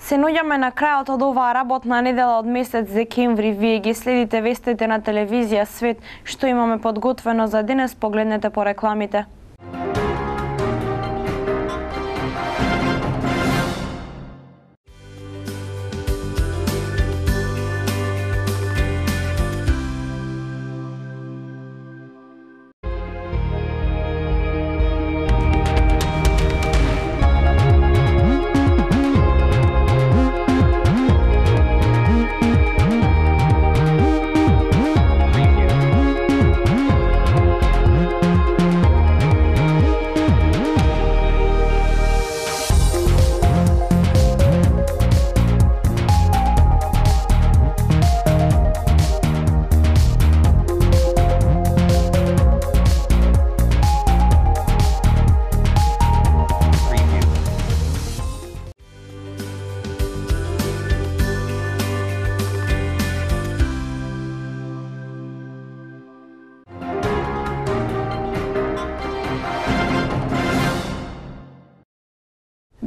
Се наоѓаме на крајот од оваа работна недела од месец декември. Вие ги следите вестите на телевизија Свет. Што имаме подготвено за денес, погледнете по рекламите.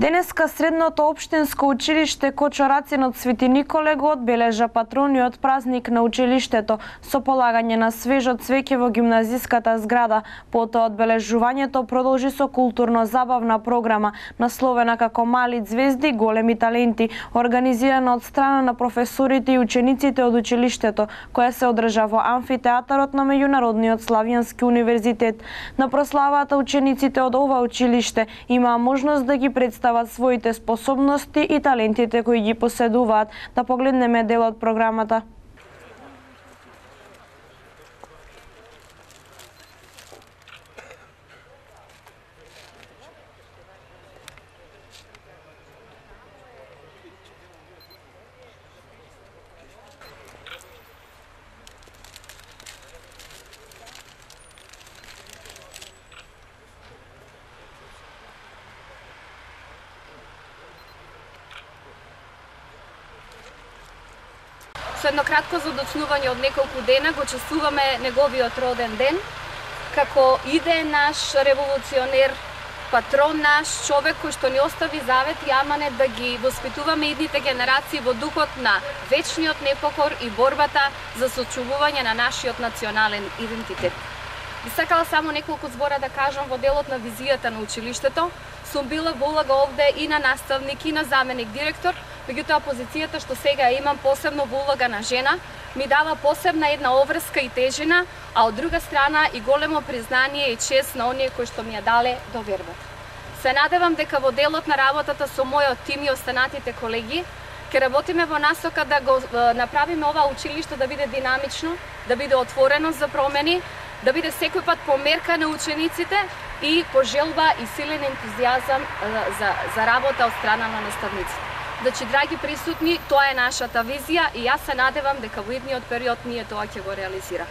Денеска Средното општинско училиште Кочорацин од Свети Николе го одбележа патрониот празник на училиштето со полагање на свежо цвеќе во гимназиската зграда. Потоа одбележувањето продолжи со културно-забавна програма насловена како Мали ѕвезди, големи таленти, организирана од страна на професорите и учениците од училиштето, која се одржа во амфитеатарот на Меѓународниот Славјански универзитет. На прославата учениците од ова училиште имаа можност да ги представат своите способности и талентите кои ги поседуваат. Да погледнеме дел од програмата. Со едно кратко задочнување од неколку дена го чествуваме неговиот роден ден, како иде наш револуционер, патрон наш, човек кој што ни остави завет и аманет да ги воспитуваме идните генерации во духот на вечниот непокор и борбата за сочувување на нашиот национален идентитет. Би сакала само неколку збора да кажам во делот на визијата на училиштето. Сум била во улога овде и на наставник и на заменик директор, меѓутоа позицијата што сега имам посебно во улога на жена ми дава посебна една обврска и тежина, а од друга страна и големо признание и чест на оние кои што ми ја дале довербата. Се надевам дека во делот на работата со мојот тим и останатите колеги ќе работиме во насока да го направиме ова училиште да биде динамично, да биде отворено за промени, да биде секој пат померка на учениците и пожелба и силен ентузијазам за работа од страна на наставниците. Значи, драги присутни, тоа е нашата визија и јас се надевам дека во идниот период ние тоа ќе го реализираме.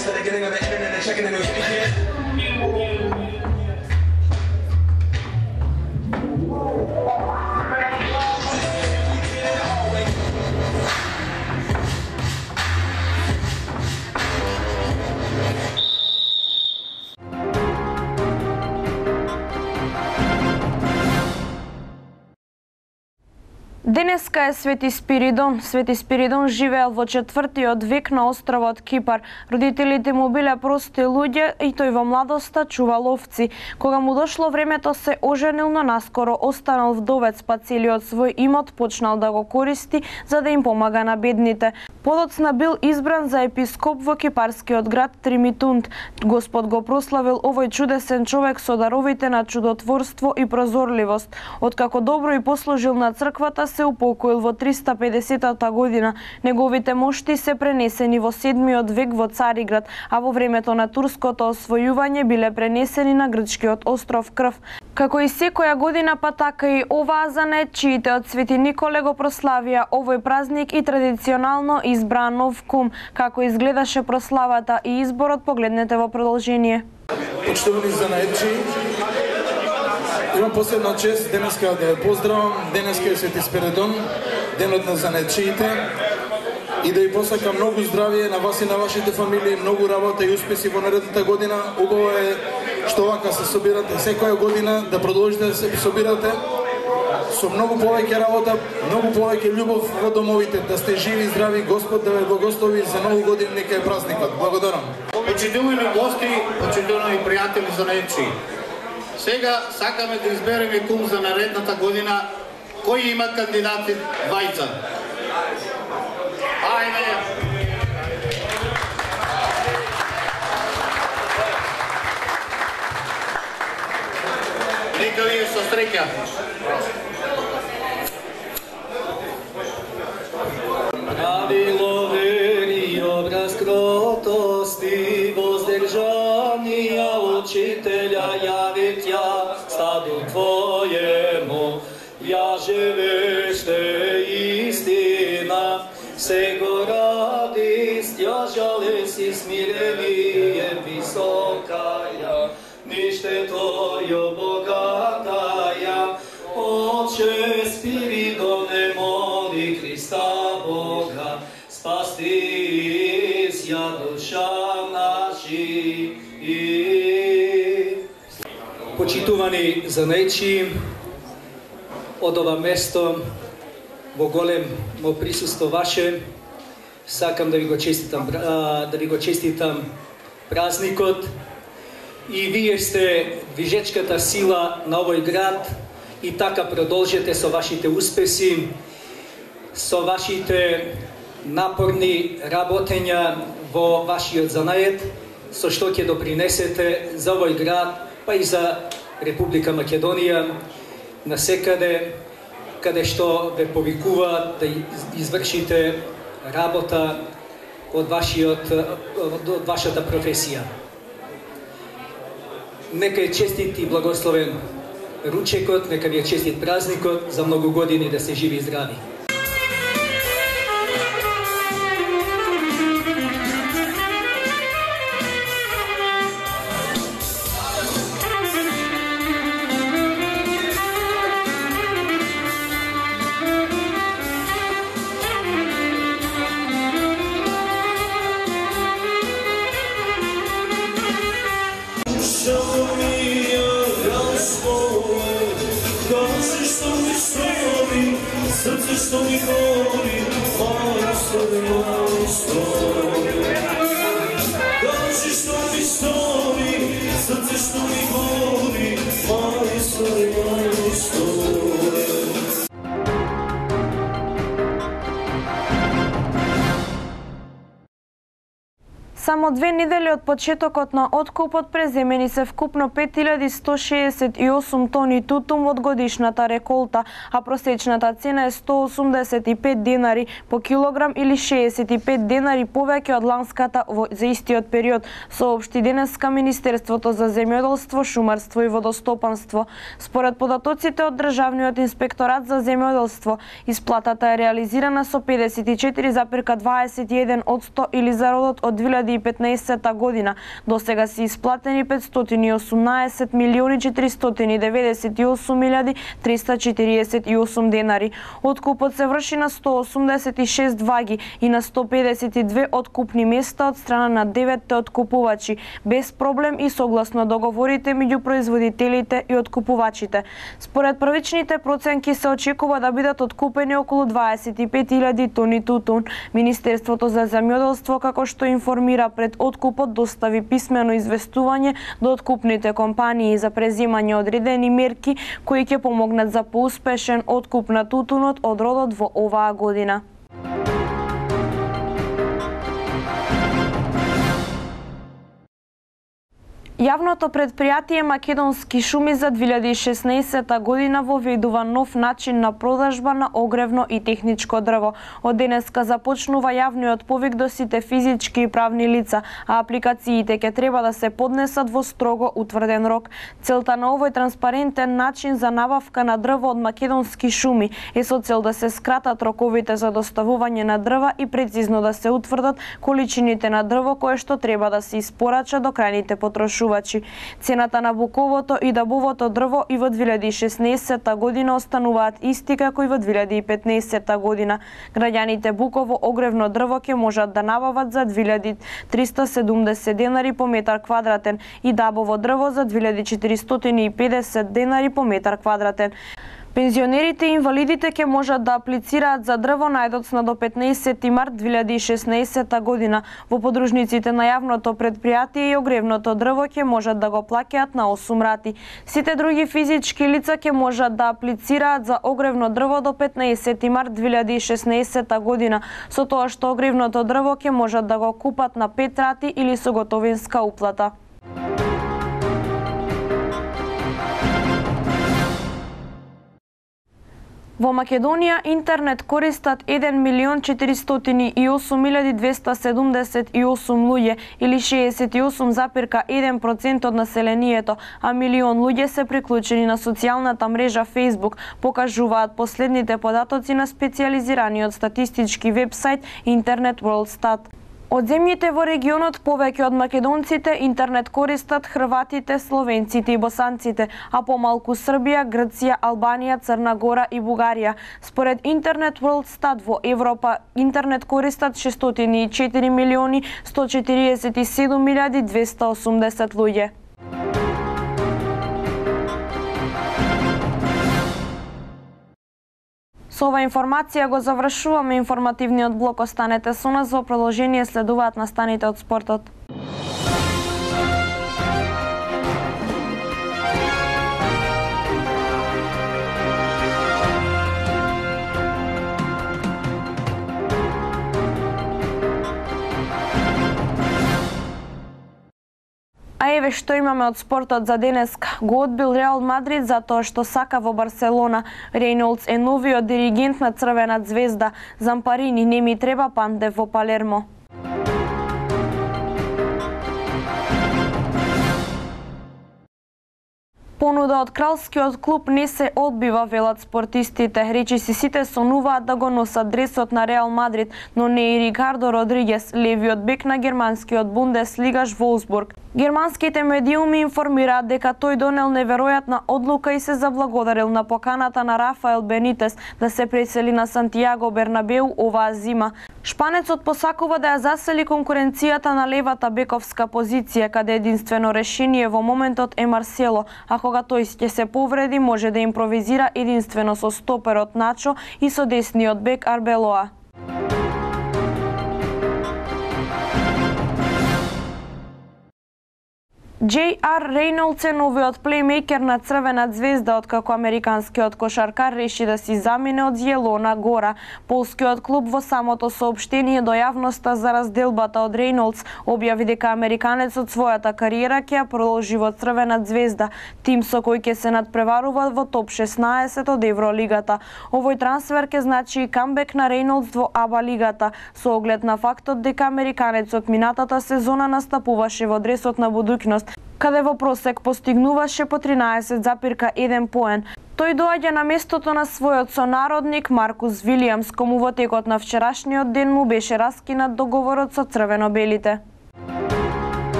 They're getting on the internet and checking the news. Денеска е Свети Спиридон. Свети Спиридон живеел во 4-тиот век на островот Кипар. Родителите му биле прости луѓе и тој во младоста чувал овци. Кога му дошло времето се оженил, но наскоро останал вдовец, па целиот свој имот почнал да го користи за да им помага на бедните. Подоцна бил избран за епископ во кипарскиот град Тримитунт. Господ го прославил овој чудесен човек со даровите на чудотворство и прозорливост. Откако добро и послужил на црквата, се упокоил во 350-та година. Неговите мошти се пренесени во 7-миот век во Цариград, а во времето на турското освојување биле пренесени на грчкиот остров Крв. Како и секоја година, па така и оваа занаетчиите од Свети Николе го прославија овој празник и традиционално избра нов кум. Како изгледаше прославата и изборот, погледнете во продолжение. Почитувани занаетчи, имам посебна чест денеска да ја поздравам. Денеска е Свети Спиридон, денот на занаетчиите, и да ви посакам многу здравје на вас и на вашите фамилии, многу работа и успеси во наредната година. Убаво е што вака се собирате секоја година, да продолжите да се собирате со многу повеќе работа, многу повеќе љубов во домовите, да сте живи и здрави, Господ да ве благослови за нову година, нека е празникот. Благодарам. Почитувани гости, почитувани пријатели занаетчи. Сега сакаме да избереме кум за наредната година. Кој има кандидати двајца? Ајде! Нека ви е со среќа. Правило вери, образ кротости, воздржанија учителја јави тја стаду Твојему, јаже веште истина, сего радист, ја жалест и смирение високаја, ниште Твојо богатаја, Отче Спиридоне, моли Христа Бога, спасти ја душа наши. Почитувани занаетчи, од ова место во големо присуство ваше, сакам да ви го честитам празникот, и вие сте движечката сила на овој град, и така продолжете со вашите успеси, со вашите напорни работења во вашиот занаед, со што ќе допринесете за овој град, па и за Република Македонија, насекаде каде што ве повикуваат да извршите работа од вашата професија. Нека е честит и благословен ручекот, нека ви е честит празникот, за многу години да се живи и здрави. Srce što mi govori, majstore, majstore. Kaži što mi stoji, srce što mi govori, majstore, majstore. Само 2 недели од почетокот на откупот преземени се вкупно 5168 тони тутун од годишната реколта, а просечната цена е 185 денари по килограм или 65 денари повеќе од ланската за истиот период, соопшти денеска Министерството за земјоделство, шумарство и водостопанство. Според податоците од Државниот инспекторат за земјоделство, исплатата е реализирана со 54,21% или зародот од 2015 година. До сега се исплатени 518 милиони 498 348 денари. Откупот се врши на 186 ваги и на 152 откупни места од страна на 9 откупувачи, без проблем и согласно договорите меѓу производителите и откупувачите. Според првичните проценки се очекува да бидат откупени околу 25.000 тони тутун. Министерството за земјоделство, како што информира пред откупот, достави писмено известување до откупните компании за преземање одредени мерки кои ќе помогнат за поуспешен откуп на тутунот од родот во оваа година. Јавното предпријатие Македонски шуми за 2016 година воведува нов начин на продажба на огревно и техничко дрво. Од денеска започнува јавниот повик до сите физички и правни лица, а апликациите ќе треба да се поднесат во строго утврден рок. Целта на овој транспарентен начин за набавка на дрво од Македонски шуми е со цел да се скратат роковите за доставување на дрва и прецизно да се утврдат количините на дрво кое што треба да се испорача до крајните потрошувачи. Цената на буковото и дабовото дрво и во 2016 година остануваат исти како и во 2015 година. Граѓаните буково огревно дрво ќе можат да набават за 2370 денари по метар квадратен и дабово дрво за 2450 денари по метар квадратен. Пензионерите и инвалидите ќе можат да аплицираат за дрво најдоцна до 15 март 2016 година. Во подружниците на јавното предпријатие и огревното дрво ќе можат да го плаќаат на 8 рати. Сите други физички лица ќе можат да аплицираат за огревно дрво до 15 март 2016 година, со тоа што огревното дрво ќе можат да го купат на 5 рати или со готовинска уплата. Во Македонија интернет користат 1.408.278 луѓе или 68,1% од населението, а милион луѓе се приклучени на социјалната мрежа Facebook, покажуваат последните податоци на специјализираниот статистички вебсайт Internet World-Stat. Од земјите во регионот повеќе од македонците интернет користат хрватите, словенците и босанците, а помалку Србија, Грција, Албанија, Црна Гора и Бугарија. Според Internet World-Stat во Европа интернет користат 604.147.280 луѓе. Со ова информација го завршуваме информативниот блок. Останете со нас, во продолжение следуваат настаните од спортот. А еве што имаме од спортот за денеска. Го одбил Реал Мадрид затоа што сака во Барселона. Рейнолдс е новиот диригент на Црвена звезда. Зампарини не ми треба Пандев во Палермо. Понуда од кралскиот клуб не се одбива, велат спортистите. Речиси сите сонуваат да го носат дресот на Реал Мадрид, но не и Рикардо Родригес, левиот бек на германскиот Бундеслигаш Волсбург. Германските медиуми информираат дека тој донел неверојатна одлука и се заблагодарил на поканата на Рафаел Бенитес да се пресели на Сантијаго Бернабеу оваа зима. Шпанецот посакува да ја засели конкуренцијата на левата бековска позиција, каде единствено решение во моментот е Марсело, а кога тој ќе се повреди може да импровизира единствено со стоперот Начо и со десниот бек Арбелоа. J.R. Рейнолдс е новиот плеймейкер на Црвена звезда, откако американскиот кошаркар реши да си замине од Јелона Гора. Полскиот клуб во самото соопштение до јавноста за разделбата од Рейнолдс објави дека американецот својата кариера ќе ја продолжи во Црвена звезда, тим со кој ќе се надпреварува во топ 16 од Евролигата. Овој трансфер ќе значи и камбек на Рейнолдс во АБА лигата, со оглед на фактот дека американецот минатата сезона настапуваше во дресот на будуќност, каде во просек постигнуваше по 13,1 поен. Тој доаѓа на местото на својот сонародник Маркус Вилијамс, кому во текот на вчерашниот ден му беше раскинат договорот со црвено-белите.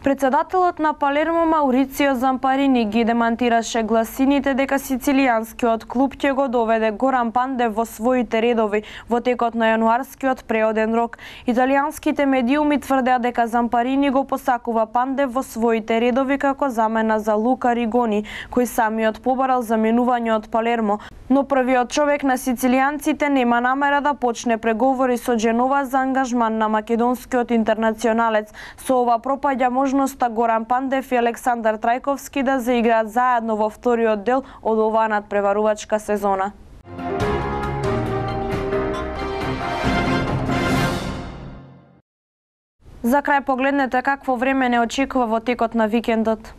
Председателот на Палермо Маурицио Зампарини ги демантираше гласините дека сицилијанскиот клуб ќе го доведе Горан Пандев во своите редови во текот на јануарскиот преоден рок. Италијанските медиуми тврдеа дека Зампарини го посакува Пандев во своите редови како замена за Лука Ригони, кој самиот побарал заменување од Палермо. Но првиот човек на сицилијанците нема намера да почне преговори со Дженова за ангажман на македонскиот интернационалец. Со ова пропаѓа можноста Горан Пандев и Александар Трајковски да заиграат заедно во вториот дел од оваа надпреварувачка сезона. За крај погледнете какво време не очекува во текот на викендот.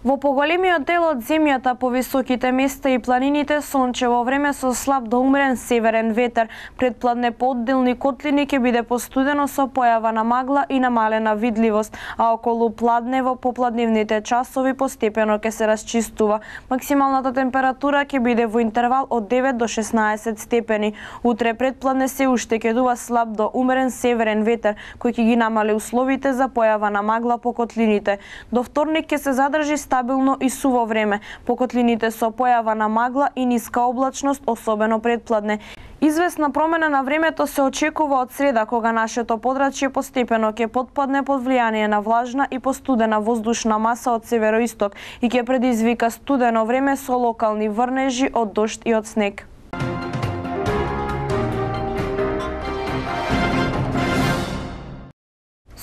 Во поголемиот дел од земјата, по високите места и планините, сончево време со слаб до умерен северен ветер. Предпладне по одделни котлини ќе биде постудено со појава на магла и намалена видливост, а околу пладне во попладневните часови постепено ќе се расчистува. Максималната температура ќе биде во интервал од 9 до 16 степени. Утре предпладне се уште ќе дува слаб до умерен северен ветер, кој ќе ги намали условите за појава на магла по котлините. До вторник ќе се задржи стабилно и суво време, по котлините со појава на магла и ниска облачност, особено предпладне. Известна промена на времето се очекува од среда, кога нашето подрачје постепено ќе потпадне под влијание на влажна и постудена воздушна маса од североисток и ќе предизвика студено време со локални врнежи од дожд и од снег.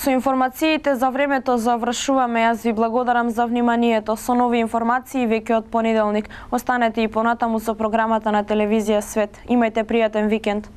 Со информациите за времето завршуваме. Јас ви благодарам за вниманието. Со нови информации веќе од понеделник. Останете и понатаму со програмата на телевизија Свет. Имајте пријатен викенд.